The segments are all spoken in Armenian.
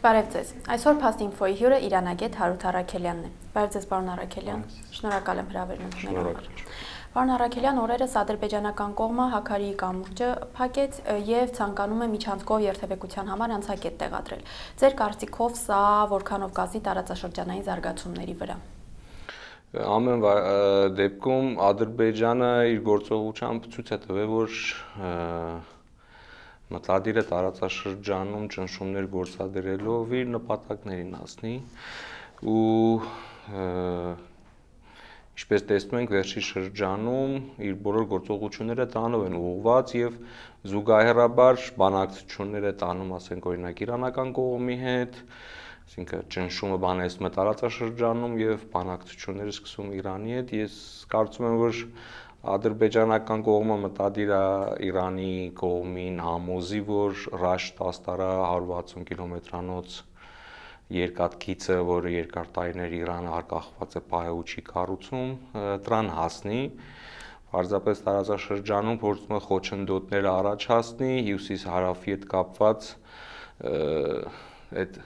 Բարև ձեզ։ Այսօր Փաստ-Ինֆոյի հյուրը Իրանագետ Հարութ Առաքելյանն է։ Բարև ձեզ, պարոն Առաքելյան։ Շնորհակալ եմ հրավերն ընդունելու համար։ Պարոն Առաքելյան, օրերս ադրբեջանական կողմը Հաքարիի կամուրջը փակեց եւ ցանկանում է միջանցքով երթևեկության համար անցակետ տեղադրել։ Ձեր կարծիքով սա որքանով կազդի տարածաշրջանային զարգացումների վրա։ Ամեն դեպքում Ադրբեջանը իր գործողությամբ ցույց է տվել, որ մտադիր է տարածաշրջանում ճնշումներ գործադրելով իր նպատակներին հասնի ու ինչպես տեսնում ենք վերջի շրջանում իր բոլոր գործողությունները տանով են ուղղված եւ զուգահեռաբար բանակցություններ է տանում, ասենք օրինակ իրանական կողմի հետ, այսինքն ճնշումը բանեցնում է տարածաշրջանում եւ բանակցությունները սկսում Իրանի հետ։ Ես կարծում եմ, որ ադրբեջանական կողմը մտադիր է Իրանի կողմին համոզի, որ Ռաշտ-Աստարա 160 կիլոմետրանոց երկաթգիծը, որը երկար տարիներ Իրանը արկախված է պահել ու չի կառուցում, դրան հասնի։ Պարզապես տարածաշրջանում փորձում է խոչընդոտներ առաջացնի, հյուսիս-հարավի հետ կապված այդ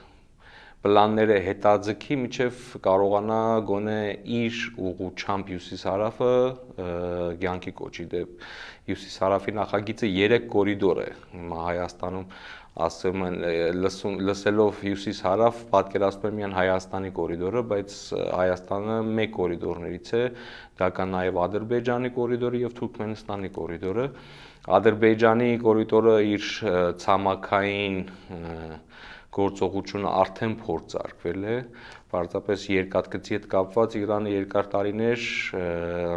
պլանները հետաձգի, մինչև կարողանա գոնե իր ուղղությամբ հյուսիս-հարավը կյանքի կոչի։ Դե հյուսիս-հարավի նախագիծը 3 կորիդոր է։ Հիմա Հայաստանում ասում են լսելով հյուսիս-հարավ պատկերացնում են միայն Հայաստանի կորիդորը, բայց Հայաստանը մեկ կորիդորներից է, դա կա նաև Ադրբեջանի կորիդորը եւ Թուրքմենստանի կորիդորը։ Ադրբեջանի կորիդորը իր ցամաքային գործողությունը արդեն փորձարկվել է, պարզապես երկաթգծի հետ կապված Իրանը երկար տարիներ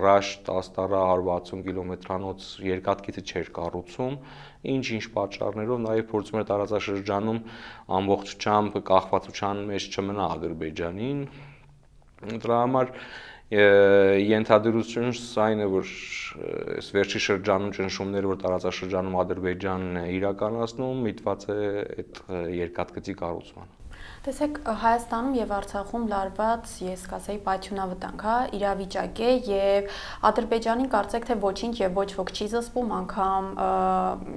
Ռաշտ-Աստարա 160 կիլոմետրանոց երկաթգիծը չէր կառուցում, ինչ պատճառներով նաև փորձում էր տարածաշրջանում ամբողջությամբ կախվածության մեջ չմնա Ադրբեջանին։ Դրա համար ենթադրությունս այն է, որ այս վերջի շրջանում ճնշումները, որ տարածաշրջանում Ադրբեջանն է իրականացնում, միտված է այդ երկաթգծի կառուցման։ Տեսեք, Հայաստանում եւ Արցախում լարված, ես կասեի, պայթյունավտանգ, իրավիճակ է եւ Ադրբեջանին կարծեք թե ոչինչ եւ ոչ ոք չի զսպում, անգամ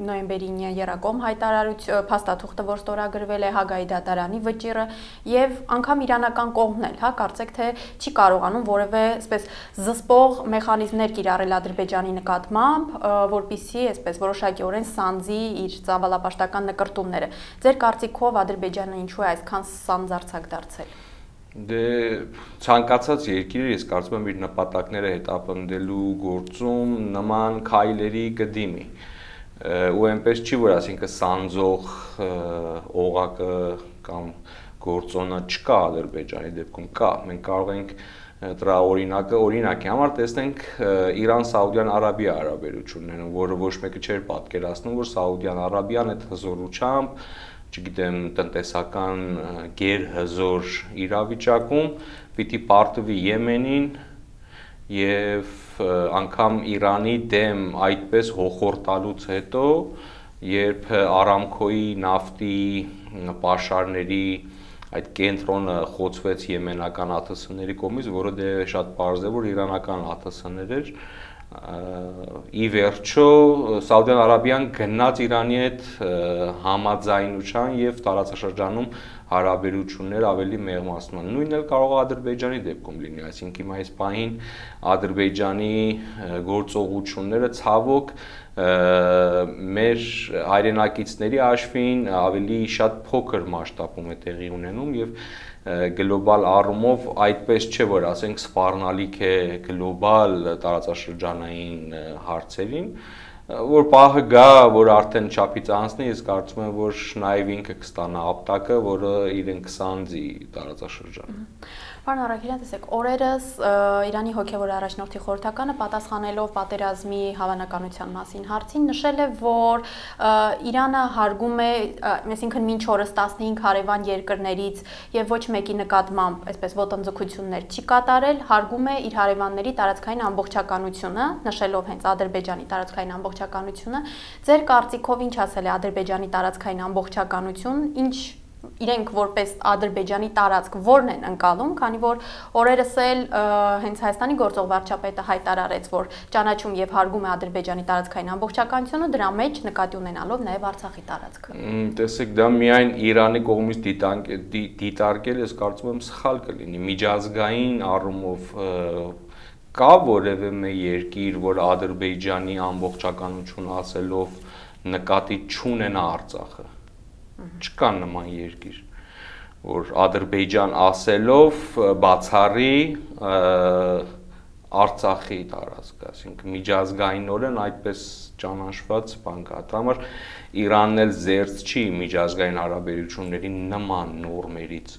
նոյեմբերի 9-ի Երակոմ հայտարարություն փաստաթուղթը, որ ստորագրվել է Հագայի դատարանի վճիռը եւ անգամ իրանական կողմն էլ, կարծեք թե չի կարողանում որևէ այսպես զսպող մեխանիզմներ կիրառել Ադրբեջանի նկատմամբ, որպիսի այսպես որոշակիորեն սանձի իր ծավալապաշտական նկրտումները։ Ձեր կարծիքով Ադրբեջանը ինչու է այսքան սանձարձակ դարձել։ Դե ցանկացած երկիրը, ես կարծում եմ, իր նպատակները հետապնդելու գործում նման քայլերի կդիմի։ Ու այնպես չի, որ ասինքն սանձող օղակը կամ գործոնը չկա Ադրբեջանի դեպքում, կա։ Մենք կարող ենք դրա օրինակի համար տեսնենք Իրան-Սաուդյան Արաբիա հարաբերությունները, որը ոչ մեկը չէր պատկերացնում, որ Սաուդյան Արաբիան այդ հզորությամբ, չգիտեմ, տնտեսական գերհզոր իրավիճակում պիտի պարտվի Եմենին եւ անգամ Իրանի դեմ այդպես հոխորտալուց հետո, երբ Արամքոյի նավթի պաշարների այդ կենտրոնը խոցվեց եմենական ԱԹՍ-ների կողմից, որը դե շատ պարզ է, որ իրանական ԱԹՍ-ներ էր, ի վերջո Սաուդյան Արաբիան գնաց Իրանի հետ համաձայնության եւ տարածաշրջանում հարաբերություններ ավելի մեղմացման։ Նույնն էլ կարող է Ադրբեջանի դեպքում լինի, այսինքն հիմա այս պահին Ադրբեջանի գործողությունները ցավոք մեր հայրենակիցների հաշվին ավելի շատ փոքր մասշտաբում է տեղի ունենում եւ գլոբալ առումով այդպես չէ, որ ասենք սպառնալիք է գլոբալ տարածաշրջանային հարցերին, որ պահը գա, որ արդեն չափից անցնի, ես կարծում եմ, որ նաև ինքը կստանա ապտակը, որը իրեն կսանձի տարածաշրջանը։ Պարոն Առաքելյան, տեսեք, օրերս Իրանի հոգևոր առաջնորդի խորհրդականը պատասխանելով պատերազմի հավանականության մասին հարցին նշել է, որ Իրանը հարգում է, այսինքն մինչ օրս 15 հարևան երկրներից եւ ոչ մեկի նկատմամբ այսպես ոտնձգություններ չի կատարել, հարգում է իր հարևանների տարածքային ամբողջականությունը, նշելով հենց Ադրբեջանի տարածքային ամբողջականությունը։ Ձեր կարծիքով ինչ ասել է Ադրբեջանի տարածքային ամբողջականություն, ինչ իրենք որպես Ադրբեջանի տարածք որն են ընկալում, քանի որ օրերս էլ հենց Հայաստանի գործող վարչապետը հայտարարեց, որ ճանաչում եւ հարգում է Ադրբեջանի տարածքային ամբողջականությունը, դրա մեջ նկատի ունենալով նաեւ Արցախի տարածքը։ Տեսեք, դա միայն Իրանի կողմից դիտարկել, ես կարծում եմ սխալ կլինի։ Միջազգային առումով կա որևէ մի երկիր, որ Ադրբեջանի ամբողջականություն ասելով նկատի չունենա Արցախը։ Չկա նման երկիր, որ Ադրբեջան ասելով բացառի Արցախի տարածքը, այսինքն միջազգայինորեն այդպես ճանաչված բան կա։ Դա համար Իրանն էլ զերծ չի միջազգային հարաբերությունների նման նորմերից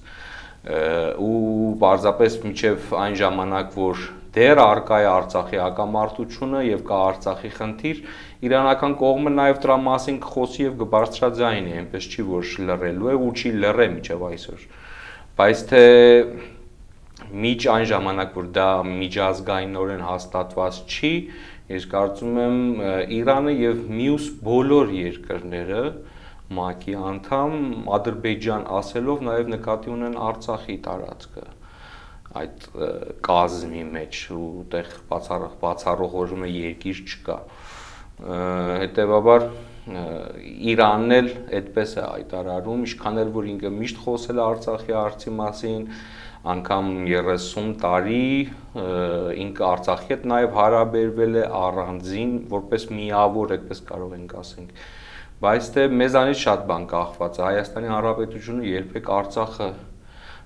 ու պարզապես մինչև այն ժամանակ, որ դեռ առկա է Արցախի հակամարտությունը եւ կա Արցախի խնդիր, իրանական կողմը նաեւ դրա մասին կխոսի եւ կբարձրաձայնի, այնպես չի որ լռելու է ու չի լռե մինչև այսօր։ Բայց թե միջ այն ժամանակ, որ դա միջազգայինորեն հաստատված չի, ես կարծում եմ Իրանը եւ մյուս բոլոր երկրները ՄԱԿ-ի անդամ Ադրբեջան ասելով նաեւ նկատի ունեն Արցախի տարածքը այդ կազմի մեջ ու այդտեղ բացառողորում է երկիր չկա։ Հետևաբար Իրանն էլ այդպես է հայտարարում, ինչքան էլ որ ինքը միշտ խոսել է Արցախի հարցի մասին, անգամ 30 տարի ինքը Արցախի հետ նաև հարաբերվել է առանձին, որպես միավոր, այդպես կարող ենք ասենք։ Բայց թե մեզանից շատ բան կախված է, Հայաստանի Հանրապետությունը երբեք Արցախը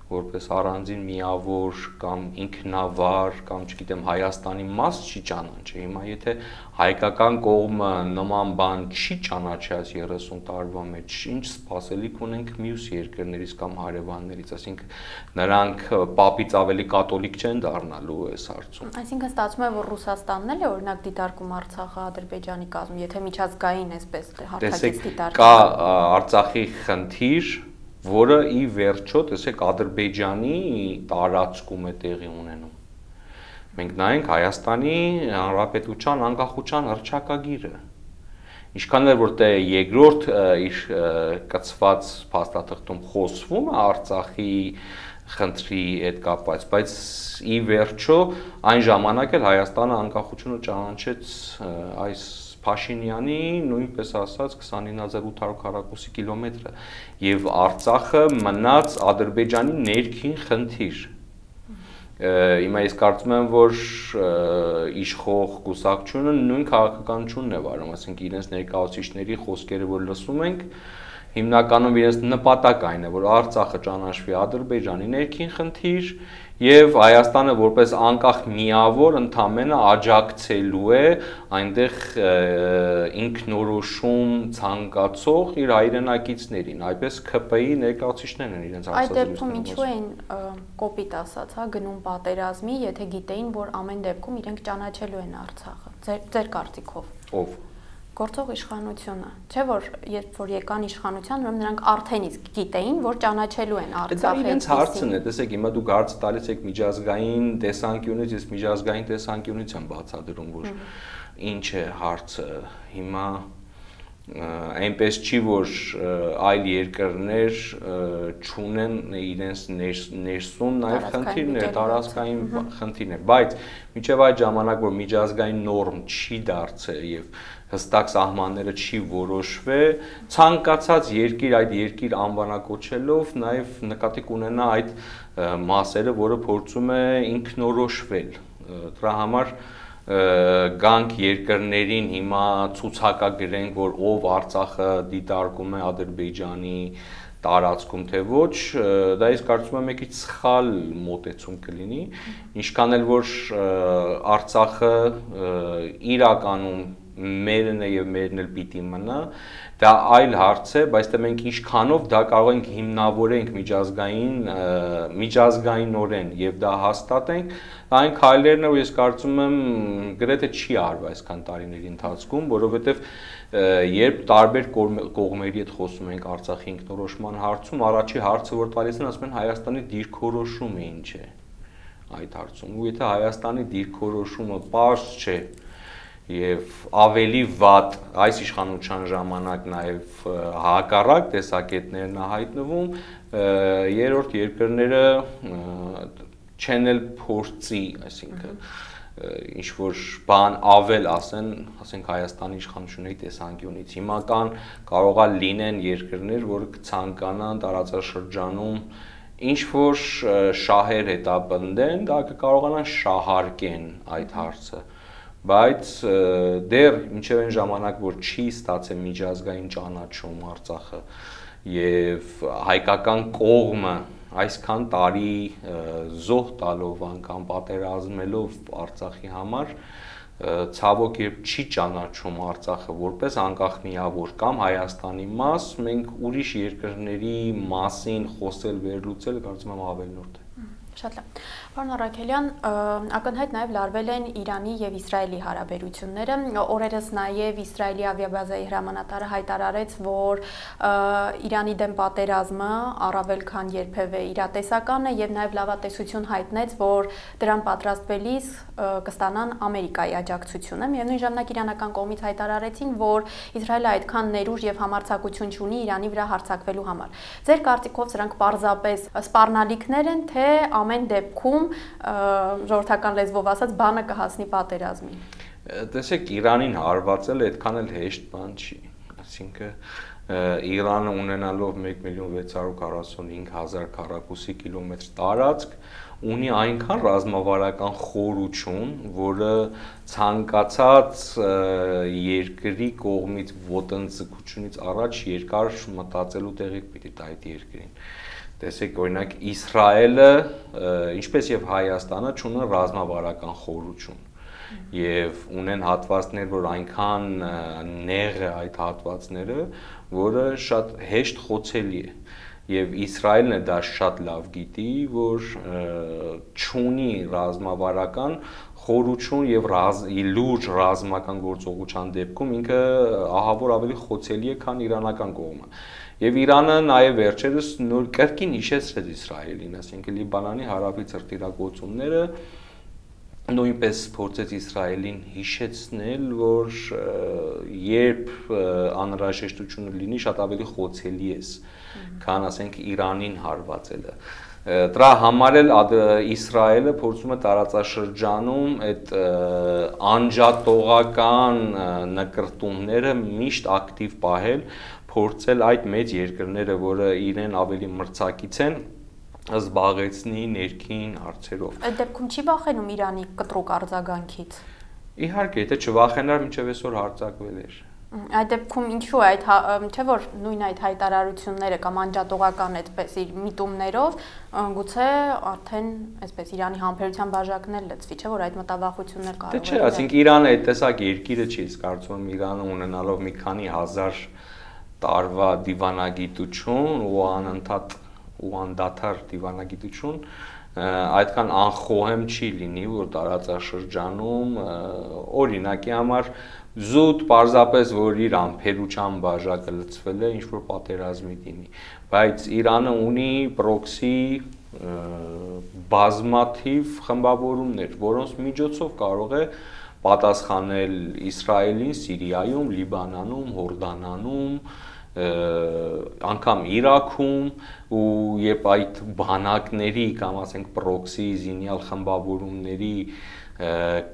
որպես առանձին միավոր կամ ինքնավար կամ չգիտեմ Հայաստանի մաս չի ճանաչի։ Հիմա եթե հայկական կողմը նման բան չի ճանաչած 30 տարվա մեջ, ինչ սպասելիք ունենք մյուս երկրներից կամ հարևաններից, այսինքն նրանք պապից ավելի կաթոլիկ չեն դառնալու այս հարցում։ Այսինքն ստացվում է, որ Ռուսաստանն էլ է օրինակ դիտարկում Արցախը Ադրբեջանի կազմում, եթե միջազգային այսպես հարթակից դիտարկի։ Կա Արցախի խնդիր, որը ի վերջո, տեսեք, Ադրբեջանի տարածքում է տեղի ունենում։ Մենք նայենք Հայաստանի Հանրապետության անկախության հռչակագիրը։ Ինչքան էլ որ դե երկրորդ իր կցված փաստաթղթում խոսվում է Արցախի խնդրի հետ կապված, բայց ի վերջո այն ժամանակ էլ Հայաստանը անկախությունը ճանաչեց այս Փաշինյանի նույնպես ասած 29800 քառակուսի կիլոմետրը եւ Արցախը մնաց Ադրբեջանի ներքին խնդիր։ Հիմա ես կարծում եմ, որ իշխող կուսակցությունը նույն քաղաքականությունն է վարում, ասենք իրենց ներկայացուցիչների խոսքերը որ լսում ենք, հիմնականում իրենց նպատակ այն է, որ Արցախը ճանաչվի Ադրբեջանի ներքին խնդիր եւ Հայաստանը որպես անկախ միավոր ընդամենը աջակցելու է այնտեղ ինքնորոշում ցանկացող իր հայրենակիցներին, այպես ՔՊ-ի ներկայացուցիչներն են իրենց Այդ դեպքում ինչու են կոպիտ ասած, հա, գնում պատերազմի, եթե գիտեին, որ ամեն դեպքում իրենք ճանաչելու են Արցախը։ Ձեր կարծիքով։ Ով։ Գործող իշխանությունը, չէ՞ որ երբ որ եկան իշխանության, ուրեմն նրանք արդեն իսկ գիտեին, որ ճանաչելու են Արցախը։ Դա իրենց հարցն է, տեսեք, հիմա դուք հարցը տալիս եք միջազգային տեսանկյունից, ես միջազգային տեսանկյունից եմ բացատրում, որ ինչ է հարցը։ Հիմա այնպես չի, որ այլ երկրներ չունեն իրենց ներսում նաև խնդիրներ, տարածքային խնդիրներ, բայց մինչև այդ ժամանակ, որ միջազգային նորմ չի դարձել եւ հստակ սահմանները չի որոշվել, ցանկացած երկիր այդ երկիր անվանակոչելով նաև նկատի կունենա այդ մասերը, որը փորձում է ինքնորոշվել։ Դրա համար գանք երկրներին հիմա ցուցակագրենք, որ ով Արցախը դիտարկում է Ադրբեջանի տարածքում թե ոչ, դա ես կարծում եմ եկից սխալ մոտեցում կլինի, ինչքան էլ որ Արցախը իրականում մերն է եւ մերն էլ պիտի մնա, դա այլ հարց է, բայց դե մենք ինչքանով դա կարող ենք հիմնավորենք միջազգայինորեն եւ դա հաստատենք, այն քայլերն ու ես կարծում եմ գրեթե չի արվել այսքան տարիների ընթացքում, որովհետեւ երբ տարբեր կողմերի հետ խոսում ենք Արցախի ինքնորոշման հարցում, առաջի հարցը որ տալիս են, ասում են Հայաստանի դիրքորոշումը ինչ է այդ հարցում, ու եթե Հայաստանի դիրքորոշումը պարզ չէ, եւ ավելի վատ այս իշխանության ժամանակ նաեւ հակառակ տեսակետներն է հայտնվում, երրորդ երկրները չեն էլ փորձի, այսինքն ինչ որ բան ավել ասենք Հայաստանի իշխանությունների տեսանկյունից։ Հիմա կարող է լինեն երկրներ, որը կցանկանան տարածաշրջանում ինչ որ շահեր հետապնդեն, դա կարողանան շահարկեն այդ հարցը, բայց դեռ մինչև այն ժամանակ, որ չի ստացել միջազգային ճանաչում Արցախը եւ հայկական կողմը այսքան տարի զոհ տալով անգամ պատերազմելով Արցախի համար, ցավոք երբ չի ճանաչում Արցախը որպես անկախ միավոր կամ Հայաստանի մաս, մենք ուրիշ երկրների մասին խոսել վերլուծել կարծում եմ ավելնորդ է։ Շատ լավ։ Պարոն Առաքելյան, ակնհայտ նաև լարվել են Իրանի եւ Իսրայելի հարաբերությունները։ Օրերս նաև Իսրայելի ավիաբազայի հրամանատարը հայտարարեց, որ Իրանի դեմ պատերազմը առավել քան երբևէ իրատեսական է եւ նաև լավատեսություն հայտնեց, որ դրան պատրաստվելիս կստանան Ամերիկայի աջակցությունը։ Միևնույն ժամանակ իրանական կողմից հայտարարեցին, որ Իսրայելը այդքան ներուժ եւ համարձակություն չունի Իրանի վրա հարձակվելու համար։ Ձեր կարծիքով սրանք պարզապես սպառնալիքներ են, թե ամեն դեպքում ժողովրդական լեզվով ասած բանը կհասնի պատերազմի։ Տեսեք, Իրանին հարվածել այդքան էլ հեշտ բան չի, այսինքն Իրանը ունենալով 1,645,000 քառակուսի կիլոմետր տարածք ունի այնքան ռազմավարական խորություն, որը ցանկացած երկրի կողմից ոտնձգությունից առաջ երկար մտածելու տեղիք պիտի տա այդ երկրին։ Տեսեք, օրինակ Իսրայելը, ինչպես եւ Հայաստանը, ունեն ռազմավարական խորություն եւ ունեն հատվածներ, որ այնքան նեղ է այդ հատվածները, որը շատ հեշտ խոցելի է։ Եվ Իսրայելն է դա շատ լավ գիտի, որ չունի ռազմավարական խորություն եւ լուրջ ռազմական գործողության դեպքում ինքը ահավոր ավելի խոցելի է, քան իրանական կողմը։ Եվ Իրանը նաև վերջերս նոր կրկին հիշեցրեց Իսրայելին, ասենք Լիբանանի հարավի ցրտիրագործումները նույնպես փորձեց Իսրայելին հիշեցնել, որ երբ անհրաժեշտությունը լինի, շատ ավելի խոցելի է, քան ասենք Իրանին հարվածելը։ Դրա համար էլ Իսրայելը փորձում է տարածաշրջանում այդ անջատողական նկրտումները միշտ ակտիվ պահել, փորձել այդ մեծ երկրները, որը իրեն ավելի մրցակից են, զբաղեցնի ներքին հարցերով։ Այդ դեպքում չի վախենում Իրանի կտրուկ արձագանքից։ Իհարկե, եթե չվախենար, մինչև այսօր հարձակվել էր։ Այդ դեպքում ինչու է այդ չէ որ նույն այդ հայտարարությունները կամ անջատողական այդպես իր միտումներով գուցե արդեն այսպես Իրանի համբերության բաժակներ լցվի, չէ որ այդ մտավախություններ կարող են։ Չէ, ասենք Իրանը այդ տեսակ երկիրը չի, իսկ կարծում եմ Իրանը ունենալով մի քանի հազար տարվա դիվանագիտություն ու անընդհատ ու անդադար դիվանագիտություն այդքան անխոհեմ չի լինի, որ տարածաշրջանում օրինակի համար զուտ պարզապես որ իր ամփերության բաժակը լցվել է, ինչ որ պատերազմի դիմի, բայց Իրանը ունի պրոքսի բազմաթիվ խմբավորումներ, որոնց միջոցով կարող է պատասխանել Իսրայելին, Սիրիայում, Լիբանանում, Հորդանանում, անգամ Իրաքում ու երբ այդ բանակների կամ ասենք պրոքսի զինյալ խմբավորումների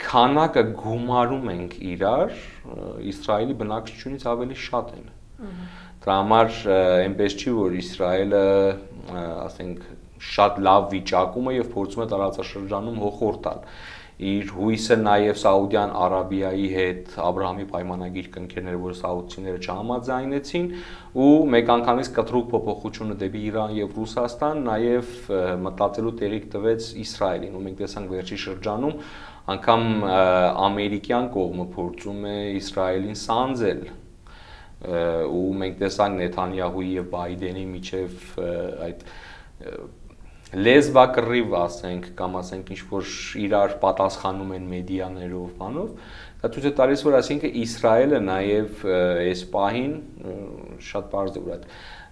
քանակը գումարում ենք իրար, Իսրայելի բնակչությունից ավելի շատ են։ Դրա համար այնպես չի, որ Իսրայելը, ասենք, շատ լավ վիճակում է եւ փորձում է տարածաշրջանում հոխորդ տալ։ Իր հույսը նաև Սաուդյան Արաբիայի հետ Աբրահամի պայմանագիր կնքերներ, որ սաուդցիները չհամաձայնեցին, ու մեկ անգամից կտրուկ փոփոխությունը դեպի Իրան եւ Ռուսաստան նաև մտածելու տեղիք տվեց Իսրայելին, ու մենք տեսանք վերջի շրջանում անգամ ամերիկյան կողմը փորձում է Իսրայելին սանձել, ու մենք տեսանք Նեթանյահուի եւ Բայդենի միջև այդ լեզվակռիվ ասենք կամ ասենք ինչ որ իրար պատասխանում են մեդիաներով, բանով, դա ցույց է տալիս, որ ասինքն Իսրայելը նաև այս պահին շատ բարձր է, որ այդ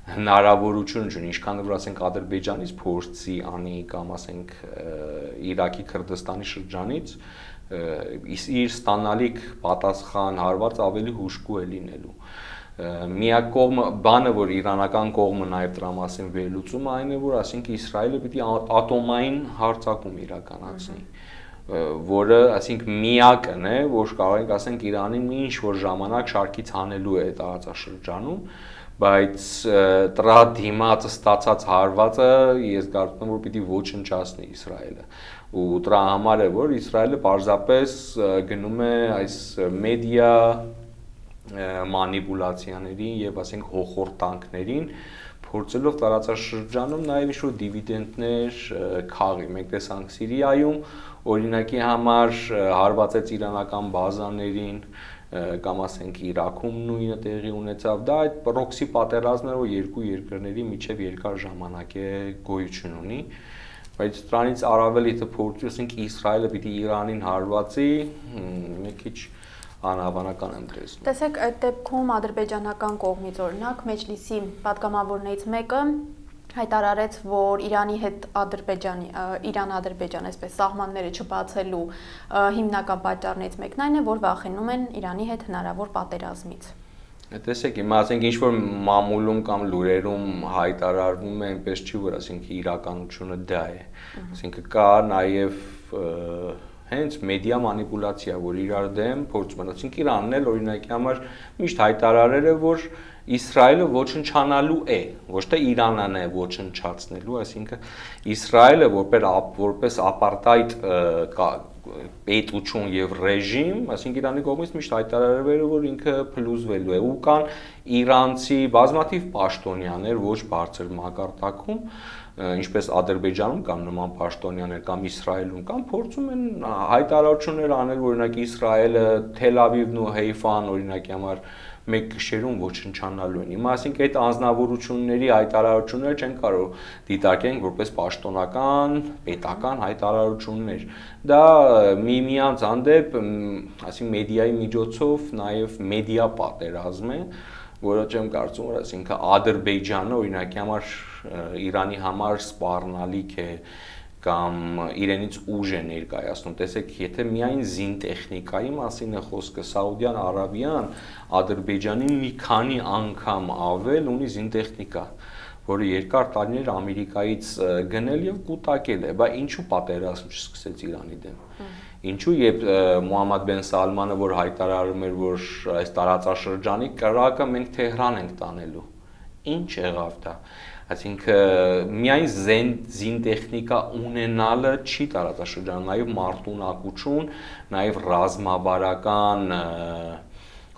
հնարավորություն ունի, ինչքան որ ասենք Ադրբեջանից փորձի անի կամ ասենք Իրաքի Քրդստանի շրջանից իր ստանալիք պատասխան հարված ավելի հուժկու է լինելու։ Միակ բանը, որ իրանական կողմը նաև դրա մասին վերլուծում է, այն է, որ ասենք Իսրայելը պիտի ատոմային հարձակում իրականացնի, որը, ասենք, միակն է, որ կարող ենք ասենք Իրանին մի ինչ-որ ժամանակ շարքից հանելու է տարածաշրջանում, բայց դրա դիմաց ստացած հարվածը ես կարծում եմ, որ պիտի ոչնչացնի Իսրայելը, ու դրա համար է, որ Իսրայելը պարզապես գնում է այս մեդիա մանիպուլացիաներին եւ ասենք հոխորտանքներին, փորձելով տարածաշրջանում նաև ինչ-որ դիվիդենդներ քաղի։ Մենք տեսանք Սիրիայում, օրինակի համար հարվածեց իրանական բազաներին, կամ ասենք Իրաքում նույնը տեղի ունեցավ, դա այդ պրոքսի պատերազմն է, որ երկու երկրների միջև երկար ժամանակ է գոյություն ունի, բայց դրանից առավել եթե փորձի, ասենք Իսրայելը պիտի Իրանին հարվածի, մի քիչ անհավանական եմ տեսնում։ Տեսեք, այդ դեպքում ադրբեջանական կողմից օրինակ Մեջլիսի պատգամավորներից մեկը հայտարարեց, որ Իրանի հետ Իրան-Ադրբեջան այսպես սահմանները չբացելու հիմնական պատճառներից մեկն այն է, որ վախենում են Իրանի հետ հնարավոր պատերազմից։ Տեսեք, հիմա ասենք ինչ-որ մամուլում կամ լուրերում հայտարարվում է, այնպես չի, որ ասենք իրականությունը դա է։ Ասենք կա նաև հենց մեդիա մանիպուլացիա, որ իրար դեմ փորձում են, ասենք Իրանն էլ օրինակի համար միշտ հայտարարել է, որ Իսրայելը ոչնչանալու է, ոչ թե Իրանն է ոչնչացնելու, այսինքն Իսրայելը որպես ապարտայդ պետություն եւ ռեժիմ, այսինքն Իրանի կողմից միշտ հայտարարվել է, որ ինքը փլուզվելու է, ու կան իրանցի բազմաթիվ պաշտոնյաներ ոչ բարձր մակարդակում, ինչպես Ադրբեջանում կամ նման պաշտոնյաներ կամ Իսրայելում կամ փորձում են հայտարարություններ անել, օրինակ Իսրայելը, Թել Ավիվն ու Հեյֆան օրինակի համար մեկ գիշերում ոչնչանալու են։ Հիմա ասենք այդ անձնավորությունների հայտարարությունները չեն կարող դիտարկենք որպես պաշտոնական, պետական հայտարարություններ։ Դա միմյանց հանդեպ, ասենք մեդիայի միջոցով նաև մեդիա պատերազմ է, որը չեմ կարծում, որ ասենք Ադրբեջանը օրինակի համար Իրանի համար սպառնալիք է կամ իրենից ուժ է ներկայացնում։ Տեսեք, եթե միայն զինտեխնիկայի մասին է խոսքը, Սաուդյան Արաբիան Ադրբեջանի մի քանի անգամ ավել ունի զինտեխնիկա, որը երկար տարիներ Ամերիկայից գնել եւ կուտակել է, բայց ինչու պատերազմ չսկսեց Իրանի դեմ։ Ինչու երբ Մոհամմադ բեն Սալմանը որ հայտարարում էր, որ այս տարածաշրջանի կրակը մենք Թեհրան ենք տանելու, ինչ եղավ դա։ Այսինքն միայն զինտեխնիկա ունենալը չի տարածաշրջանում, նաև մարտունակություն, նաև ռազմավարական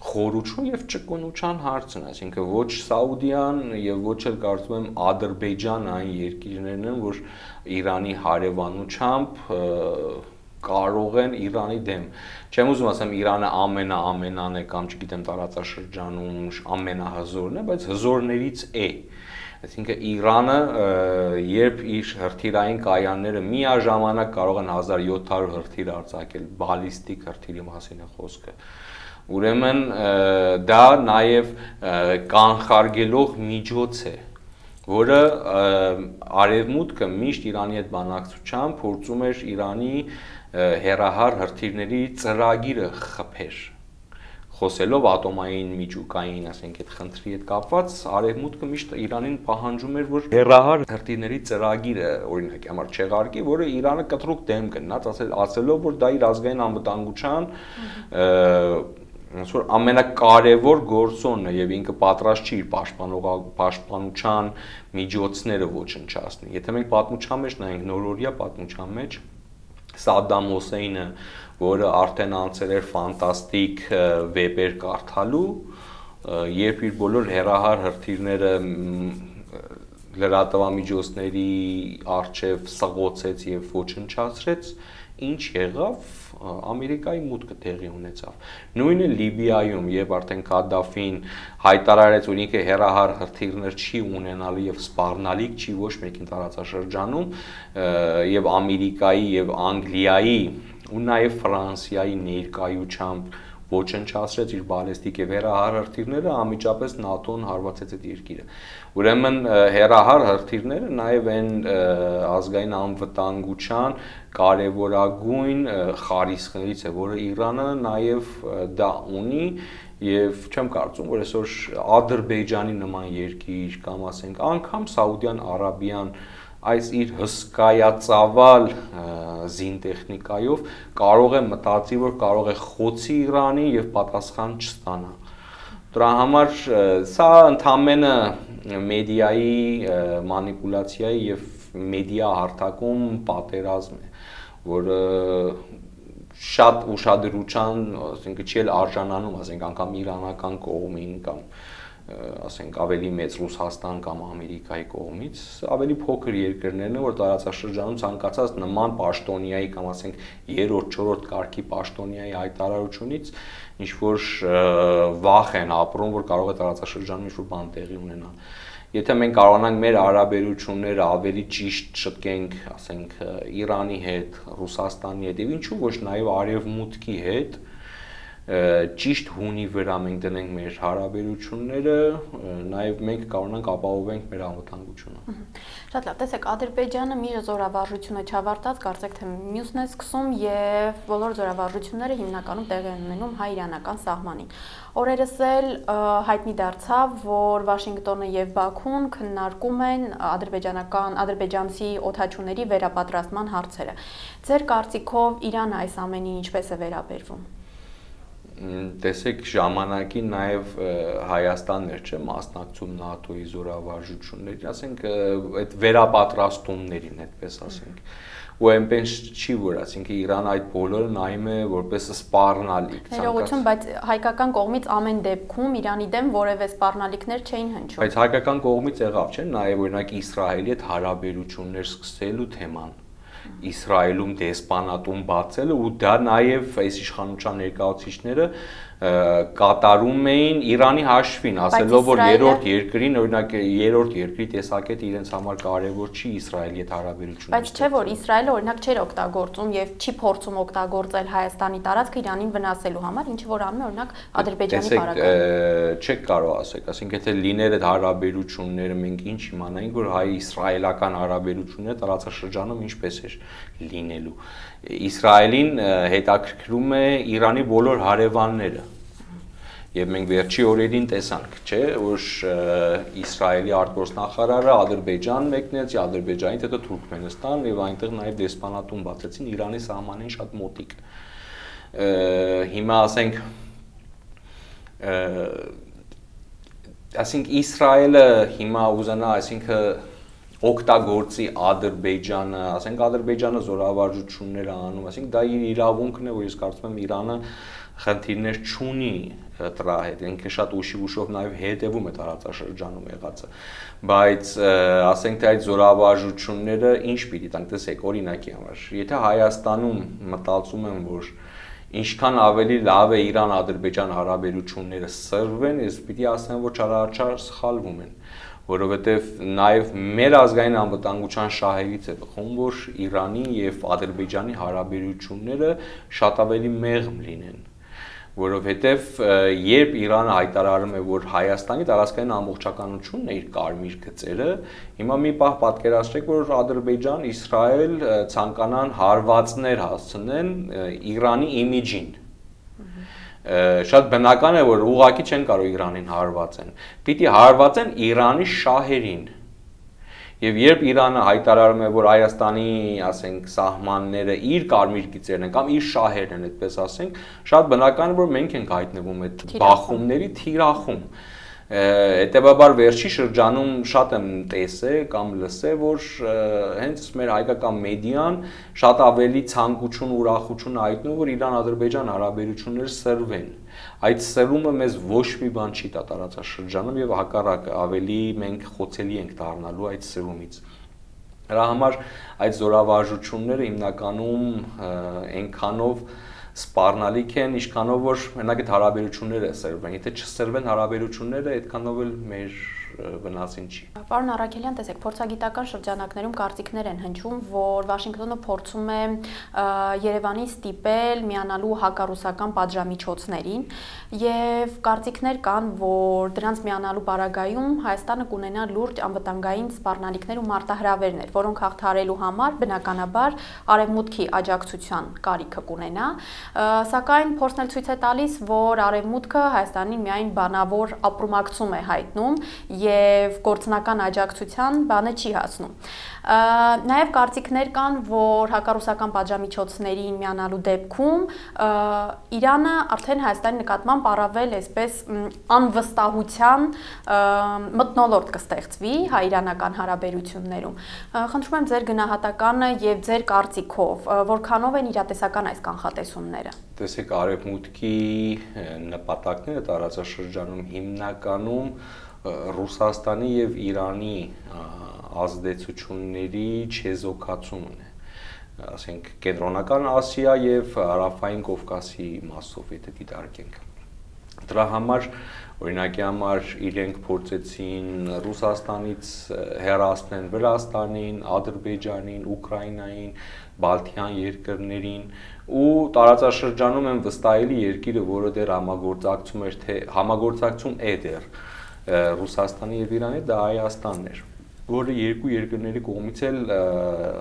խորություն եւ ճկունության հարցն, այսինքն ոչ Սաուդիան եւ ոչ էլ կարծում եմ Ադրբեջանը այն երկիրներն են, որ Իրանի հարևանությամբ կարող են Իրանի դեմ։ Չեմ ուզում ասեմ Իրանը ամենան է կամ չգիտեմ տարածաշրջանում ամենահզորն է, բայց հզորներից է։ Այսինքն Իրանը երբ իր հրթիռային կայանները միաժամանակ կարող են 1700 հրթիռ արձակել, բալիստիկ հրթիռի մասին է խոսքը։ Ուրեմն դա նաև կանխարգելող միջոց է, որը արևմուտքը միշտ Իրանի հետ բանակցությամբ փորձում էր Իրանի հեռահար հրթիռների ծրագիրը խփեր։ Խոսելով ատոմային միջուկային, ասենք այդ խնդրի հետ կապված, արևմուտքը միշտ Իրանին պահանջում էր, որ հեռահար հրթիռների ծրագիրը օրինակի համար չեղարկի, որը Իրանը կտրուկ դեմ կնաց, ասելով, որ դա իր ազգային անվտանգության ոնց որ ամենակարևոր գործոնն է եւ ինքը պատրաստ չի իր պաշտպանության միջոցները ոչնչացնի։ Եթե մենք պատմության մեջ նայենք նորօրյա պատմության մեջ Սադդամ Հոսեյնը, որը արդեն անցել էր ֆանտաստիկ վեպեր կարդալու, երբ իր բոլոր հեռահար հրթիռները լրատվամիջոցների առջև սղոցեց եւ ոչնչացրեց, ինչ եղավ, Ամերիկայի մուտքը տեղի ունեցավ։ Նույնը Լիբիայում, երբ արդեն Քադաֆին հայտարարեց, որ ինքը հեռահար հրթիռներ չի ունենալու եւ սպառնալիք չի ոչ մեկին տարածաշրջանում, եւ Ամերիկայի եւ Անգլիայի ու նաեւ Ֆրանսիայի ներկայությամբ ոչնչացրեց իր բալեստիկ եւ հեռահար հրթիռները, անմիջապես ՆԱՏՕ-ն հարվածեց այդ երկիրը։ Ուրեմն հեռահար հրթիռները նաեւ այն ազգային անվտանգության կարևորագույն խարիսխներից է, որը Իրանը նաեւ դա ունի եւ չեմ կարծում, որ այսօր Ադրբեջանի նման երկիր կամ ասենք անգամ Սաուդյան Արաբիան այս իր հսկայածավալ զինտեխնիկայով կարող է մտածի, որ կարող է խոցի Իրանի եւ պատասխան չստանա։ Դրա համար սա ընդամենը մեդիայի մանիպուլյացիայի եւ մեդիա հարթակում պատերազմ է, որը շատ ուշադրության, ասենք չի արժանանում, ասենք անգամ իրանական կողմին կամ ասենք ավելի մեծ Ռուսաստան կամ Ամերիկայի կողմից, ավելի փոքր երկրներն են, որ տարածաշրջանում ցանկացած նման պաշտոնյայի կամ ասենք 3-րդ, 4-րդ կարգի պաշտոնյայի հայտարարությունից ինչ որ վախ են ապրում, որ կարող է տարածաշրջանում ինչ որ բան տեղի ունենա։ Եթե մենք կարողանանք մեր հարաբերությունները ավելի ճիշտ շտկենք, ասենք Իրանի հետ, Ռուսաստանի հետ եւ ինչու ոչ նաեւ Արևմուտքի հետ, ճիշտ հունի վրա մենք դնենք մեր հարաբերությունները, նաև մենք կարողանանք ապահովենք մեր անվտանգությունը։ Շատ լավ, տեսեք, Ադրբեջանը մի զորավարժությունը չավարտած, կարծեք թե մյուսն է սկսում եւ բոլոր զորավարժությունները հիմնականում տեղի են ունենում հայ-իրանական սահմանին։ Օրերս էլ հայտնի դարձավ, որ Վաշինգտոնը եւ Բաքուն քննարկում են ադրբեջանցի օդաչուների վերապատրաստման հարցերը։ Ձեր կարծիքով Իրանը այս ամենին ինչպես է վերաբերվում։ Տեսեք, ժամանակին նաև Հայաստանն էր, չէ, մասնակցում ՆԱՏՕ-ի զորավարժություններին, ասենք այդ վերապատրաստումներին, այդպես ասենք։ Ու այնպես չի, որ ասենք Իրանը այդ բոլորը նայում է որպես սպառնալիք։ Ներողություն, բայց հայկական կողմից ամեն դեպքում Իրանի դեմ որևէ սպառնալիքներ չէին հնչում։ Բայց հայկական կողմից եղավ, չէ՞, նաև օրինակ Իսրայելի հետ հարաբերություններ սկսելու թեման։ Իսրայելում դեսպանատուն բացելը ու դա նաև այս իշխանության ներկայացուցիչները կատարում էին Իրանի հաշվին, ասելով որ երրորդ երկրին, օրինակ երրորդ երկրի տեսակետը իրենց համար կարևոր չի Իսրայելի հետ հարաբերությունները։ Բայց չէ որ Իսրայելը օրինակ չէր օգտագործում եւ չի փորձում օգտագործել Հայաստանի տարածքը Իրանին վնասելու համար, ինչը որ անում է օրինակ Ադրբեջանի բարակայում։ Չեք կարող ասեք, ասենք եթե լիներ այդ հարաբերությունները մենք ինչ իմանայինք, որ հայ-իսրայելական հարաբերությունները տարածաշրջանում ինչպես էր լինելու։ Իսրայելին հետաքրքրում է Իրանի բոլոր հարևանները։ Եվ մենք վերջի օրերին տեսանք, չէ, որ Իսրայելի արտգործնախարարը Ադրբեջան մեկնեց, Ադրբեջանից հետո Թուրքմենստան եւ այնտեղ նաեւ դեսպանատուն բացեցին Իրանի սահմանին շատ մոտիկ։ Հիմա ասենք Իսրայելը հիմա ուզենա, այսինքն օգտագործի Ադրբեջանը, ասենք Ադրբեջանը զորավարժություններ անում, ասենք դա իր իրավունքն է, որ ես կարծում եմ Իրանը խնդիրներ չունի դրա հետ, ինքը շատ ուշով նաև հետևում է տարածաշրջանում եղածը, բայց ասենք թե այդ զորավարժությունները ինչ պիտի տանք, տեսեք, օրինակի համար, եթե Հայաստանում մտածում եմ, որ ինչքան ավելի լավ է Իրան-Ադրբեջան հարաբերությունները սրվեն, ես պիտի ասեմ, որ չարաչար սխալվում են, որովհետև նաև մեր ազգային անվտանգության շահերից է բխում, որ Իրանի եւ Ադրբեջանի հարաբերությունները շատ ավելի մեղմ լինեն, որովհետև երբ Իրանը հայտարարում է, որ Հայաստանի տարածքային ամբողջականությունն է իր կարմիր գծերը, հիմա մի պահ պատկերացրեք, որ Ադրբեջան, Իսրայել ցանկանան հարվածներ հասցնեն Իրանի իմիջին։ Շատ բնական է, որ ուղղակի չեն կարող Իրանին հարվածեն, պիտի հարվածեն Իրանի շահերին։ Եվ երբ Իրանը հայտարարում է, որ Հայաստանի, ասենք, սահմանները իր կարմիր գծերն են կամ իր շահերն են, այդպես ասենք, շատ բնական է, որ մենք ենք հայտնվում այդ բախումների թիրախում։ Հետևաբար վերջի շրջանում շատ եմ տեսել կամ լսել, որ հենց մեր հայկական մեդիան շատ ավելի ցանկություն, ուրախություն հայտնում, որ Իրան-Ադրբեջան հարաբերությունները սրվեն։ Այդ սրումը մեզ ոչ մի բան չի տա տարածաշրջանում եւ հակառակը ավելի մենք խոցելի ենք դառնալու այդ սրումից։ Դրա համար այդ զորավարժությունները հիմնականում այնքանով սպառնալիք են, ինչքանով որ մենակ այդ հարաբերությունները սրվեն, եթե չսրվեն հարաբերությունները, այդքանով էլ մեր վնասին չի։ Պարոն Առաքելյան, տեսեք, փորձագիտական շրջանակներում կարծիքներ են հնչում, որ Վաշինգտոնը փորձում է Երևանին ստիպել միանալու հակառուսական պատժամիջոցներին, եւ կարծիքներ կան, որ դրանց միանալու պարագայում Հայաստանը կունենա լուրջ անվտանգային սպառնալիքներ ու մարտահրավերներ, որոնք հաղթահարելու համար բնականաբար արևմուտքի աջակցության կարիքը կունենա, սակայն փորձն էլ ցույց է տալիս, որ արևմուտքը Հայաստանին միայն բանավոր ապրումակցում է հայտնում եւ գործնական աջակցության բանը չի հասնում։ Նաեւ կարծիքներ կան, որ հակառուսական պատժամիջոցներին միանալու դեպքում Իրանը արդեն Հայաստանի նկատմամբ առավել այսպես անվստահության մթնոլորտ կստեղծվի հայ-իրանական հարաբերություններում։ Խնդրում եմ ձեր գնահատականը եւ ձեր կարծիքով, որքանով են իրատեսական այս կանխատեսումները։ Տեսեք, արևմուտքի նպատակները տարածաշրջանում հիմնականում Ռուսաստանի եւ Իրանի ազդեցությունների չեզոքացումն է, ասենք Կենտրոնական Ասիա եւ Հարավային Կովկասի մասով, եթե դիտարկենք։ Դրա համար, օրինակի համար իրենք փորձեցին Ռուսաստանից հեռացնել Վրաստանին, Ադրբեջանին, Ուկրաինային, Բալթյան երկրներին ու տարածաշրջանում են վստահելի երկիրը, որը դեռ համագործակցում է դեռ Ռուսաստանի եւ Իրանի, դա Հայաստանն էր, որը երկու երկրների կողմից էլ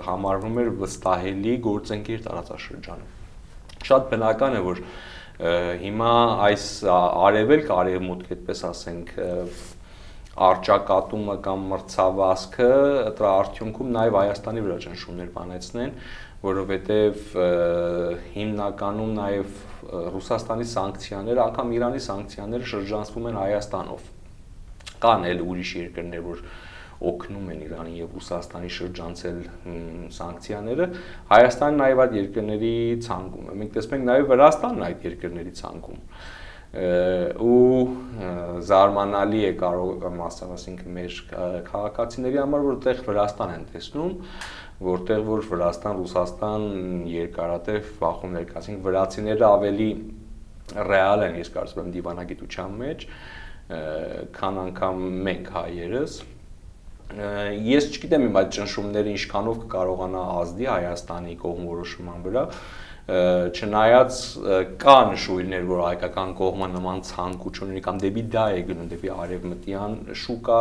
համարվում էր վստահելի գործընկեր տարածաշրջանում։ Շատ բնական է, որ հիմա այս արևելք-արևմուտք, այդպես ասենք, արճակատումը կամ մրցավազքը դրա արդյունքում նաև Հայաստանի վրա ճնշումներ բանեցնեն, որովհետև հիմնականում նաև Ռուսաստանի սանկցիաները, անգամ Իրանի սանկցիաները շրջանցվում են Հայաստանով։ Կան էլ ուրիշ երկրներ, որ օգնում են Իրանին եւ Ռուսաստանի շրջանցել սանկցիաները, Հայաստանը նաև այդ երկրների ցանկում է։ Մենք տեսնում ենք նաև Վրաստանն այդ երկրների ցանկում ու զարմանալի է կարող ասենք մեր քաղաքացիների համար, որտեղ Վրաստան են տեսնում, որտեղ որ Վրաստան-Ռուսաստան երկարատև բախումներ կա, ասենք վրացիները ավելի ռեալ են, ես կարծում եմ դիվանագիտության մեջ, քան անգամ մենք հայերս։ Ես չգիտեմ իմ այդ ճնշումները ինչքանով կկարողանա ազդի Հայաստանի կողմնորոշման վրա, չնայած կա նշույլներ, որ հայկական կողմը նման ցանկություն կամ դեպի դա է գնում, դեպի արևմտյան շուկա,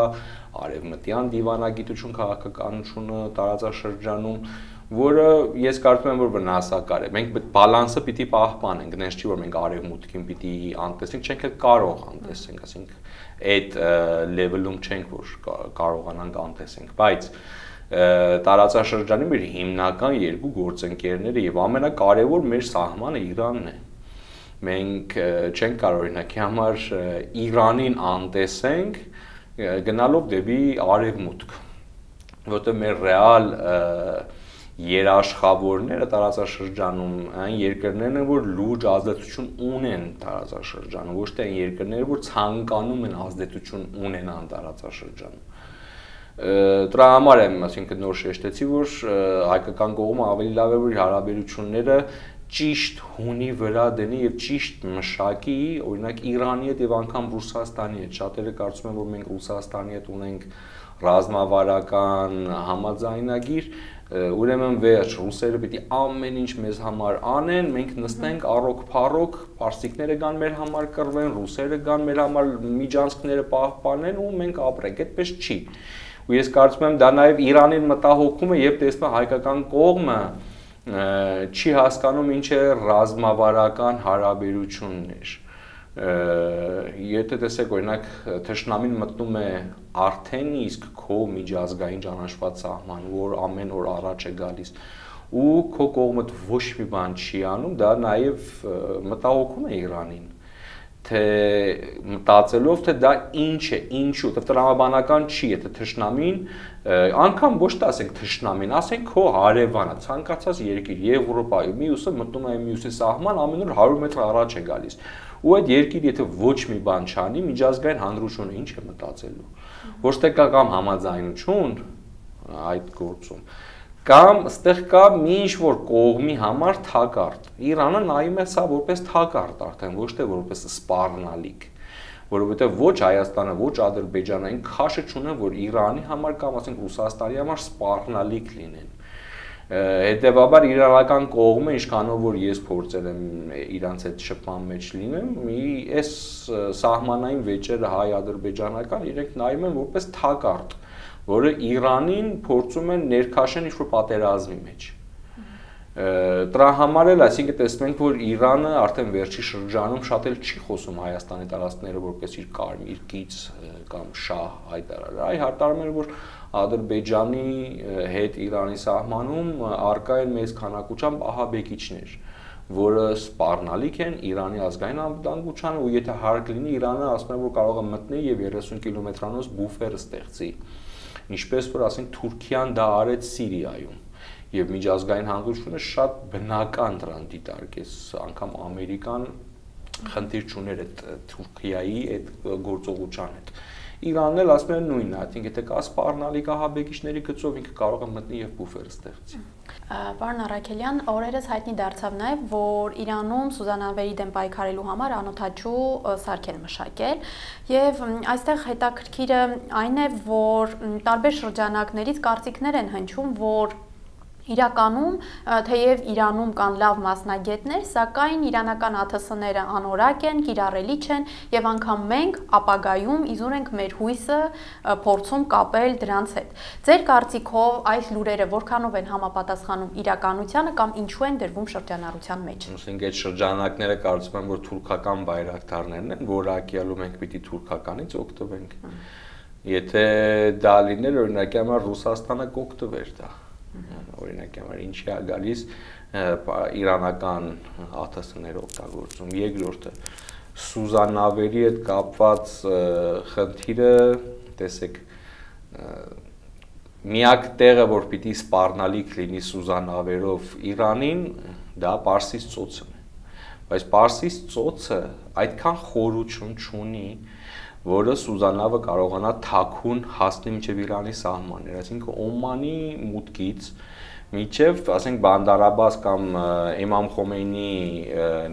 արևմտյան դիվանագիտություն, քաղաքականությունը տարածաշրջանում, որը ես կարծում եմ, որ վնասակար է։ Մենք բալանսը պիտի պահպանենք, դες չի որ մենք արևմուտքին պիտի անտեսենք, չենք էլ կարող անտեսենք, ասենք այդ լեվելում չենք, որ կարողանանք անտեսենք, բայց տարածաշրջանի մեր հիմնական երկու գործընկերները եւ ամենակարևոր մեր սահմանը Իրանն է։ Մենք չենք կարող օրինակի համար Իրանին անտեսենք գնալով դեպի արևմուտք, որտեղ մեր ռեալ երաշխավորները տարածաշրջանում այն երկրներն են, որ լուրջ ազդեցություն ունեն տարածաշրջանում, ոչ թե այն երկրները, որ ցանկանում են ազդեցություն ունենան տարածաշրջանում։ Դրա համար եմ, այսինքն նոր շեշտեցի, որ հայկական կողմը ավելի լավ է, որ հարաբերությունները ճիշտ հունի վրա դնի եւ ճիշտ մշակի, օրինակ Իրանի հետ եւ անգամ Ռուսաստանի հետ։ Շատերը կարծում են, որ մենք Ռուսաստանի հետ ունենք ռազմավարական համաձայնագիր, ուրեմն վերջ ռուսերը պիտի ամեն ինչ մեզ համար անեն, մենք նստենք առոք-փառոք, պարսիկները գան մեր համար կռվեն, ռուսերը գան մեր համար միջանցքները պահպանեն ու մենք ապրենք, այդպես չի։ Ու ես կարծում եմ դա նաև Իրանին մտահոգում է, երբ տեսնում հայկական կողմը չի հասկանում ինչ է ռազմավարական հարաբերություններ։ Եթե տեսեք օրինակ թշնամին մտնում է արդեն իսկ քո միջազգային ճանաչված սահման, որ ամեն օր առաջ է գալիս ու քո կողմդ ոչ մի բան չի անում, դա նաև մտահոգում է Իրանին, թե մտածելով թե դա ինչ է, ինչու, դա տրամաբանական չի, եթե թշնամին անգամ ոչ թե ասենք թշնամին, ասենք քո հարևանը, ցանկացած երկիր, Եվրոպայում, մյուսը մտնում է մյուսի սահման, ամեն օր 100 մետր առաջ է գալիս։ Ու այդ երկիրը եթե ոչ մի բան չանի, միջազգային հանրությունը ինչ է մտածելու։ Ոչ թե կա կամ համաձայնություն այդ գործում, կամ այստեղ կա մի ինչ-որ կողմի համար թակարդ։ Իրանը նայում է սա որպես թակարդ արդեն, ոչ թե որպես սպառնալիք, որովհետև ոչ Հայաստանը, ոչ Ադրբեջանը այն քաշը չունեն, որ Իրանի համար կամ ասենք Ռուսաստանի համար սպառնալիք լինեն։ Հետևաբար իրանական կողմը ինչքանով որ ես փորձել եմ իրանց հետ շփման մեջ լինեմ, այս սահմանային վեճերը հայ-ադրբեջանական իրենք նայում են որպես թակարդ, որը Իրանին փորձում են ներքաշեն ինչ-որ պատերազմի մեջ։ Դրա համար էլ, այսինքն տեսնում ենք, որ Իրանը արդեն վերջի շրջանում շատ էլ չի խոսում Հայաստանի տարածքները որպես իր կարմիր կից կամ շահ հայտարարել, այլ հայտարարում է, որ Ադրբեջանի հետ Իրանի սահմանում առկա են մեծ քանակությամբ ահաբեկիչներ, որը սպառնալիք են Իրանի ազգային անվտանգությանը ու եթե հարկ լինի Իրանը ասում է, որ կարող է մտնի եւ 30 կիլոմետրանոց բուֆեր ստեղծի, ինչպես որ ասենք Թուրքիան դա արեց Սիրիայում եւ միջազգային հանրությունը շատ բնական դրան դիտարկեց, անգամ Ամերիկան խնդիր չուներ այդ Թուրքիայի այդ գործողության հետ։ Իրանն էլ ասում է նույնն, այսինքն եթե կա սպառնալիք ահաբեկիչների գծով ինքը կարող է մտնի եւ բուֆեր ստեղծի։ Պարոն Առաքելյան, օրերս հայտնի դարձավ նաև, որ Իրանում Սուզանավերի դեմ պայքարելու համար անօթաչու սարք են մշակել եւ այստեղ հետաքրքիրը այն է, որ տարբեր շրջանակներից կարծիքներ են հնչում, որ իրականում թեև Իրանում կան լավ մասնագետներ, սակայն իրանական ԱԹՍ-ները անորակ են, կիրառելի չեն եւ անգամ մենք ապագայում իզուր ենք մեր հույսը փորձում կապել դրանց հետ։ Ձեր կարծիքով այս լուրերը որքանով են համապատասխանում իրականությանը կամ ինչու են դրվում շրջանառության մեջ։ Ուսենք այդ շրջանակները կարծում եմ, որ թուրքական բայրակտարներն են, որակյալում ենք պիտի թուրքականից օգտվենք։ Եթե դա լիներ, օրինակի համար Ռուսաստանը կօգտվեր դա։ Օրինակի համար ինչի է գալիս իրանական ԱԹՍ-ները օգտագործում։ Երկրորդը Սուզանավերի հետ կապված խնդիրը, տեսեք, միակ տեղը, որ պիտի սպառնալիք լինի Սուզանավերով Իրանին, դա Պարսից ծոցն է։ Բայց Պարսից ծոցը այդքան խորություն չունի, որը Սուզանավը կարողանա թաքուն հասնի մինչև Իրանի սահմաններ, այսինքն Օմանի մուտքից մինչև, ասենք, Բանդար Աբբաս կամ Իմամ Խոմեյնի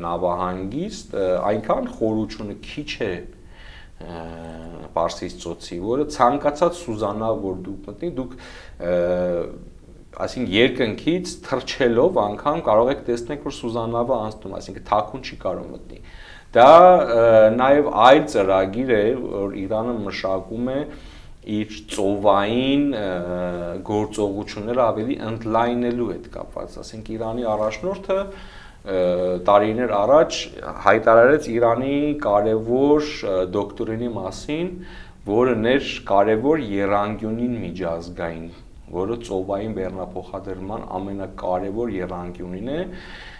նավահանգիստ այնքան խորությունը քիչ է Պարսից ծոցի, որը ցանկացած Սուզանավ, որ դուք մտնի, դուք այսինքն երկնքից թռչելով անգամ կարող եք տեսնել, որ Սուզանավը անցնում, այսինքն թաքուն չի կարող մտնի։ Դա նաև այլ ծրագիր է, որ Իրանը մշակում է իր ծովային գործողությունները ավելի ընդլայնելու հետ կապված, ասենք Իրանի առաջնորդը տարիներ առաջ հայտարարեց Իրանի կարևոր դոկտրինի մասին, որն էր կարևոր եռանկյունին միջազգային, որը ծովային բեռնափոխադրման ամենակարևոր եռանկյունին է,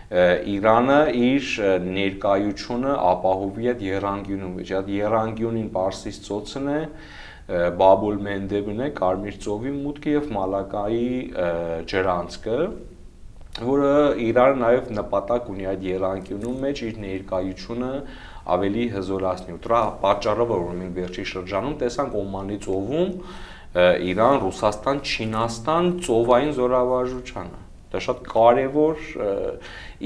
Իրանը իր ներկայությունը ապահովի այդ եռանկյունում, այդ եռանկյունին Պարսից ծոցն է, Բաբ ալ-Մենդեբն է, Կարմիր ծովի մուտքը եւ Մալակայի ջրանցքը, որը Իրանը նաև նպատակ ունի այդ եռանկյունում մեջ իր ներկայությունը ավելի հզորացնի։ Դրա պատճառով որ մենք վերջի շրջանում տեսանք Օմանի ծովում Իրան, Ռուսաստան, Չինաստան ծովային զորավարժությանը։ Դա շատ կարևոր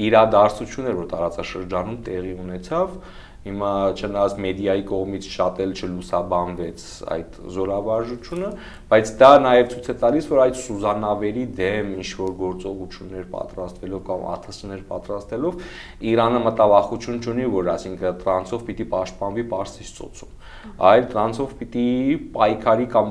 իրադարձություն էր, որ տարածաշրջանում տեղի ունեցավ։ Հիմա չնայած մեդիայի կողմից շատ էլ չլուսաբանվեց այդ զորավարժությունը, բայց դա նաև ցույց է տալիս, որ այդ Սուզանավերի դեմ ինչ-որ գործողություններ պատրաստվելով կամ ԱԹՍ-ներ պատրաստելով Իրանը մտավախություն չունի, որ այսինքն տրանսով պիտի պաշտպանվի Պարսից ծոցում, այլ տրանսով պիտի պայքարի կամ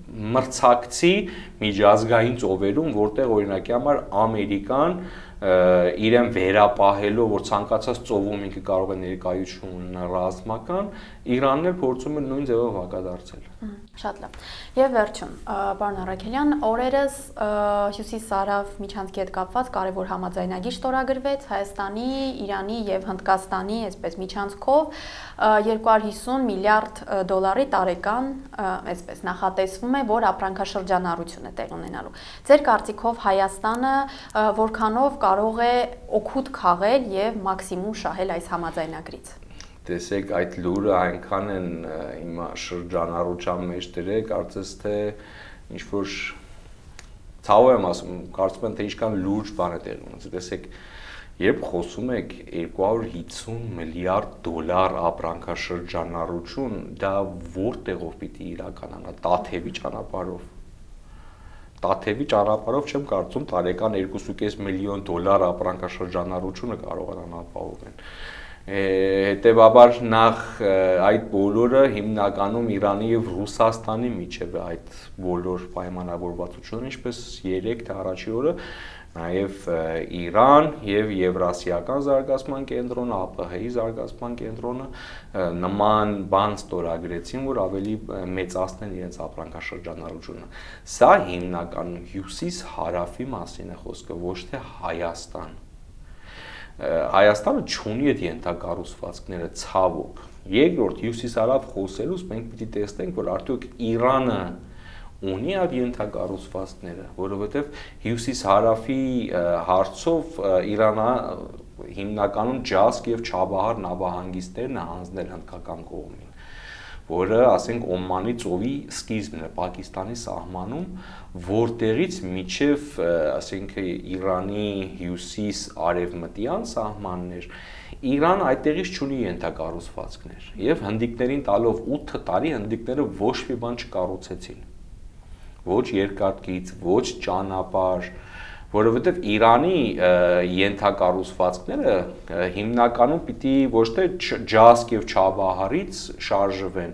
մրցակցի միջազգային ծովերում, որտեղ օրինակի համար Ամերիկան իրեն վերապահելով, որ ցանկացած ծովում ինքը կարող է ներկայություն ունենալ ռազմական, Իրանն էլ փորձում է նույն ձևով հակադարձել։ Շատ լավ։ Եվ վերջում, պարոն Առաքելյան, օրերս Հյուսիս-Սարավ միջանցքի հետ կապված կարևոր համաձայնագիր ստորագրվեց Հայաստանի, Իրանի եւ Հնդկաստանի, այսպես միջանցքով 250 միլիարդ դոլարի տարեկան, այսպես նախատեսվում է, որ ապրանքաշրջանառություն է տեղ ունենալու։ Ձեր կարծիքով Հայաստանը որքանով կարող է օգուտ քաղել եւ մաքսիմում շահել այս համաձայնագրից։ Տեսեք, այդ լուրը այնքան են հիմա շրջանառության մեջ դրել, կարծես թե ինչ-որ ցավ եմ ասում, կարծում եմ թե ինչքան լուրջ բան է տեղի ունեցել։ Տեսեք, Երբ խոսում եք 250 միլիարդ դոլար ապրանքաշրջանառություն, դա որտեղով պիտի իրականանա, Տաթևի ճանապարհով։ Տաթևի ճանապարհով չեմ կարծում տարեկան 2.5 միլիոն դոլար ապրանքաշրջանառությունը կարողանան ապահովել։ Հետևաբար նախ այդ բոլորը հիմնականում Իրանի եւ Ռուսաստանի միջև է այդ բոլոր պայմանավորվածությունը, ինչպես 3 թե առաջի օրը նաև Իրան եւ Եվրասիական զարգացման կենտրոնը, ԱՊՀ-ի զարգացման կենտրոնը նման բան ստորագրեցին, որ ավելի մեծացնեն իրենց ապրանքաշրջանառությունը։ Սա հիմնականում հյուսիս-հարավի մասին է խոսքը, ոչ թե Հայաստան։ Հայաստանը չունի այդ ենթակառուցվածքները ցավոք։ Երկրորդ հյուսիս-հարավ խոսելուց մենք պիտի տեսնենք, որ արդյոք Իրանը ունի այդ ենթակառուցվածքները, որովհետև հյուսիս-հարավի հարցով Իրանը հիմնականում Ջասկ եւ Չաբահար նավահանգիստներն է հանձնել հնդկական կողմին, որը, ասենք, Օմանի ծովի սկիզբն է Պակիստանի սահմանում, որտեղից միջև, ասենք, Իրանի հյուսիս-արևմտյան սահմաններ, Իրանը այդտեղից չունի ենթակառուցվածքներ, եւ հնդիկներին տալով 8 տարի հնդիկները ոչ մի բան չկառուցեցին, ոչ երկաթգիծ, ոչ ճանապարհ, որովհետև Իրանի ենթակառուցվածքները հիմնականում պիտի ոչ թե Ջասկ եւ Չաբահարից շարժվեն,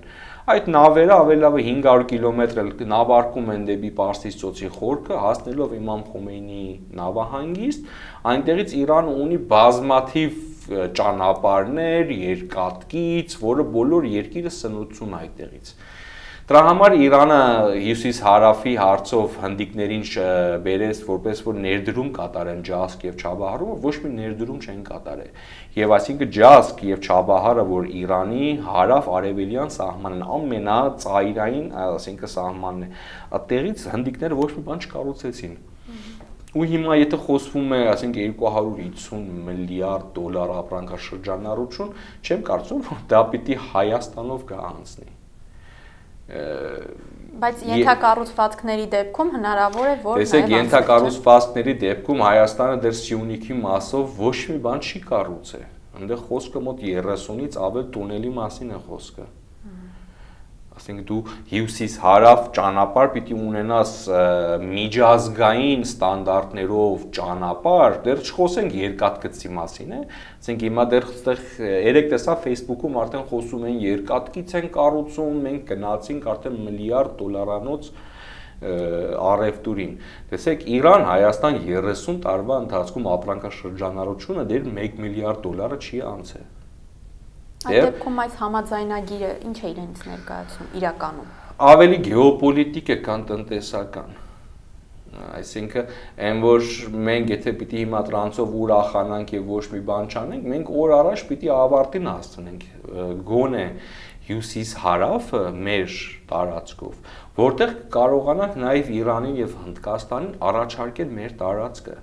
այդ նավերը ավելավը 500 կիլոմետր նավարկում են դեպի Պարսից ծոցի խորքը, հասնելով Իմամ Խոմեյնիի նավահանգիստ, այնտեղից Իրանը ունի բազմաթիվ ճանապարհներ, երկաթգիծ, որը բոլոր երկիրը սնուցում է այդտեղից։ Դրա համար Իրանը հյուսիս-հարավի հարցով հնդիկներին բերեց, որպես որ ներդրում կատարեն Ջասկ եւ Չաբահարում, ոչ մի ներդրում չեն կատարել։ Եվ այսինքն Ջասկ եւ Չաբահարը, որ Իրանի հարավ-արևելյան սահմանն ամենածայրային, այսինքն սահմանն է, այդտեղից հնդիկները ոչ մի բան չկառուցեցին։ Ու հիմա եթե խոսվում է, ասենք 250 միլիարդ դոլար ապրանքաշրջանառություն, չեմ կարծում, որ դա պիտի Հայաստանով կհանձնի։ Բայց ենթակառուցվածքների դեպքում հնարավոր է, որ տեսեք, ենթակառուցվածքների դեպքում Հայաստանը դեռ Սյունիքի մասով ոչ մի բան չի կառուցել։ Այնտեղ խոսքը մոտ 30-ից ավել տունելի մասին է խոսքը։ Ասենք դու հյուսիս-հարավ ճանապարհ պիտի ունենաս միջազգային ստանդարտներով ճանապարհ, դեռ չխոսենք երկաթգծի մասին, ասենք հիմա դեռ այստեղ երեք տեսա Facebook-ում արդեն խոսում են երկաթգիծ են կառուցում, մենք գնացինք արդեն միլիարդ դոլարանոց առևտուրին։ Տեսեք, Իրան-Հայաստան 30 տարվա ընթացքում ապրանքաշրջանառությունը դեռ 1 միլիարդ դոլարը չի անցել։ Այդ դեպքում այս համաձայնագիրը ինչ է իրենց ներկայացնում իրականում։ Ավելի գեոպոլիտիկ է, քան տնտեսական։ Այսինքն, այն որ մենք եթե պիտի հիմա տրանսով ուրախանանք եւ ոչ մի բան չանենք, մենք օր առաջ պիտի ավարտին հասցնենք գոնե հյուսիս-հարավը մեր տարածքով, որտեղ կարողանանք նաեւ Իրանին եւ Հնդկաստանին առաջարկել մեր տարածքը։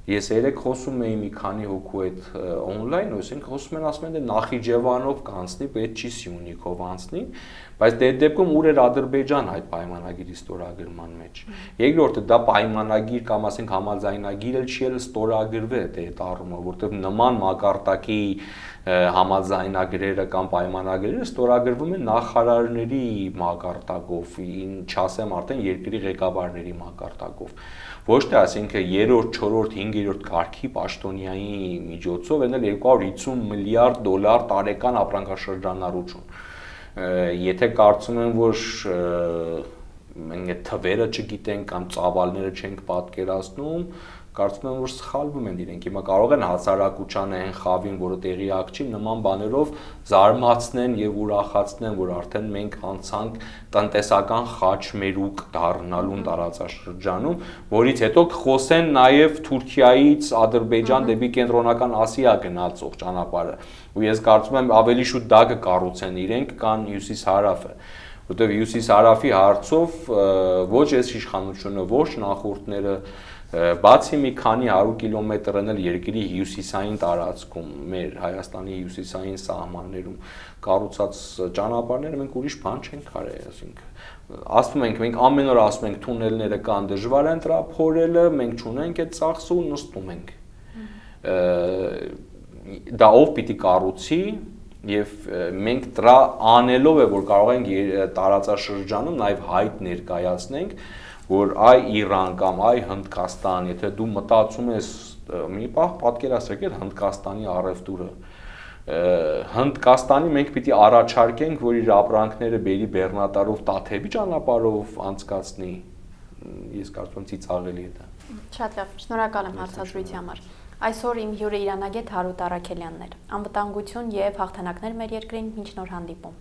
Ես երեք խոսում էի մի քանի հոգու հետ on-line, այսինքն խոսում են, ասում են, դե Նախիջևանով կանցնի, պետք չի Սյունիքով անցնի, բայց դե դեպքում ուր էր Ադրբեջան այդ պայմանագիրի ստորագրման մեջ։ Երկրորդը դա պայմանագիր կամ ասենք համաձայնագիր էլ չի ստորագրվել դե այդ առումով, որտեղ նման մակարդակի համաձայնագրերը կամ պայմանագրերը ստորագրվում են նախարարների մակարդակով, չասեմ արդեն երկրի ղեկավարների մակարդակով։ Ոչ թե ասենք 3-րդ, 4-րդ, 5-րդ կարգի պաշտոնյայի միջոցով են 250 միլիարդ դոլար տարեկան ապրանքաշրջանառություն։ Եթե կարծում են, որ մենք այդ թվերը չգիտենք կամ ծավալները չենք պատկերացնում, կարծում եմ, որ սխալվում են իրենք։ Հիմա կարող են հասարակությանը այն խավին, որը տեղյակ չի, նման բաներով զարմացնեն եւ ուրախացնեն, որ արդեն մենք անցանք տնտեսական խաչմերուկ դառնալուն տարածաշրջանում, որից հետո կխոսեն նաեւ Թուրքիայից Ադրբեջան դեպի կենտրոնական Ասիա գնացող ճանապարհը։ Ու ես կարծում եմ ավելի շուտ դա կկառուցեն իրենք, քան հյուսիս-հարավը։ Որտեղ հյուսիս-հարավի հարցով ոչ այս իշխանությունը, ոչ նախորդները բացի մի քանի 100 կիլոմետրն էլ երկրի հյուսիսային տարածքում, մեր Հայաստանի հյուսիսային սահմաններում կառուցած ճանապարհները մենք ուրիշ բան չենք արել, ասենք ասում ենք մենք ամեն օր ասում ենք թունելները կան, դժվար են դրա փորելը, մենք չունենք այդ ծախսը ու նստում ենք։ դա ով պիտի կառուցի եւ մենք դրա անելով է որ կարող ենք տարածաշրջանում նաեւ հայտ ներկայացնենք որ այ Իրան կամ այ Հնդկաստան եթե դու մտածում ես մի պահ պատկերացրեք այդ Հնդկաստանի առևտուրը Հնդկաստանի մենք պիտի առաջարկենք որ իր ապրանքները բերի Բեռնատարով Տաթևի ճանապարհով անցկացնի ես կարծում եմ ծիծաղելի է դա Շատ լավ շնորհակալ եմ հարցազրույցի համար Այսօր իմ հյուրը Իրանագետ Հարութ Առաքելյանն էր անվտանգություն եւ հաղթանակներ մեր երկրին մինչ նոր հանդիպում